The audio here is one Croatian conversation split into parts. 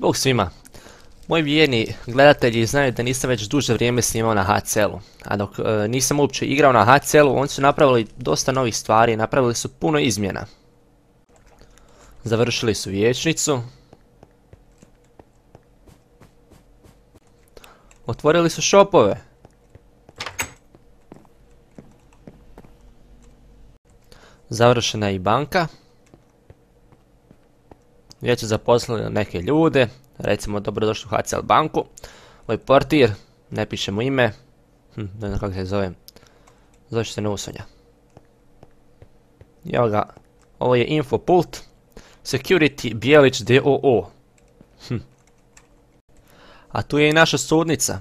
Bog svima. Moji vjerni gledatelji znaju da nisam već duže vrijeme snimao na HCL-u. A dok nisam uopće igrao na HCL-u, oni su napravili dosta novih stvari, napravili su puno izmjena. Završili su vijećnicu. Otvorili su shopove. Završena je i banka. Već su zaposlili neke ljude, recimo dobrodošli u HCL banku. Ovaj portir, ne pišemo ime, ne znam kako se zove, zove se Neusonja. Evo ga, ovo je Infopult, Security Bijelić DOO. A tu je i naša sudnica,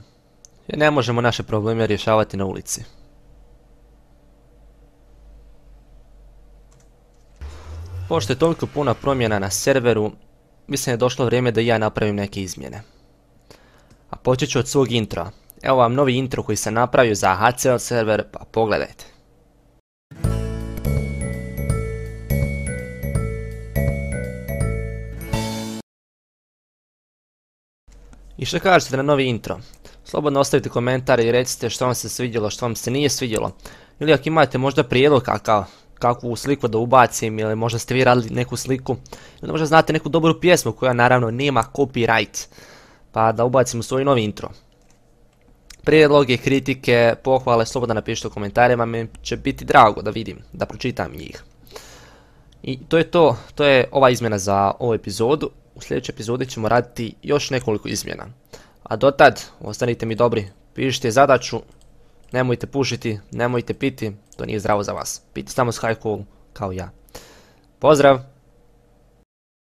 jer ne možemo naše probleme rješavati na ulici. Pošto je toliko puno promjena na serveru, mislim da je došlo vrijeme da i ja napravim neke izmjene. A počet ću od svog introa. Evo vam novi intro koji sam napravio za HCL server, pa pogledajte. I što kažete na novi intro? Slobodno ostavite komentare i recite što vam se svidjelo, što vam se nije svidjelo. Ili ako imate možda prijedlog kakvu sliku da ubacim, ili možda ste vi radili neku sliku, ili možda znate neku dobru pjesmu koja naravno nema copyright, pa da ubacim u svoj novi intro. Prijedloge, kritike, pohvale, slobodno napišite u komentarima, mi će biti drago da vidim, da pročitam njih. I to je ova izmjena za ovu epizodu. U sljedećoj epizodi ćemo raditi još nekoliko izmjena. A dotad, ostanite mi dobri, pišite zadaću, nemojte pušiti, nemojte piti, to nije zdravo za vas. Pite samo s high cool kao ja. Pozdrav!